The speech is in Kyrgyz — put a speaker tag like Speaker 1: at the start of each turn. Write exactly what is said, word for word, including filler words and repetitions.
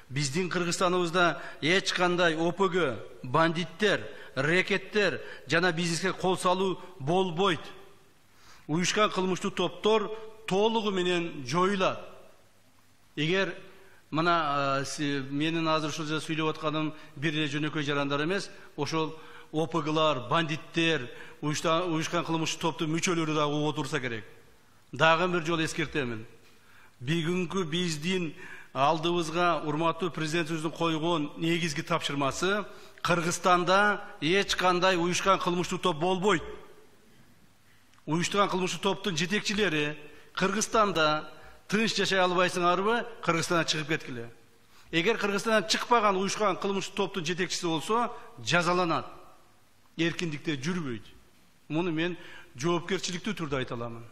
Speaker 1: Биздин Кыргызстаныбызда эч кандай О П Г, бандиттер, рекеттер жана бизнеске кол салуу болбойт. Уюшкан кылмыштуу топтор толугу менен жоюлат. Эгер мына менин азыр ушул жерде сүйлөп атканым бир эле жөнөкөй жарандар эмес, ошол О П Глар, бандиттер, уюшкан кылмыштуу топтун мүчөлөрү дагы угуп отурса керек. Дагы бир жолу эскертемин. Бүгүнкү биздин алдыбызга урматтуу президентибиздин койгон негизги тапшырмасы Кыргызстанда эч кандай уюшкан кылмыштуу топ болбойт. Уюштурган кылмыштуу топтун жетекчилери Кыргызстанда тынч жашай албайсыңарбы, Кыргызстандан чыгып кеткиле. Эгер Кыргызстандан чыкпаган уюшкан кылмыштуу топтун жетекчиси болсо, жазаланат. Эркиндикте жүрбөйт. Муну мен жоопкерчиликтүү түрдө айта аламын.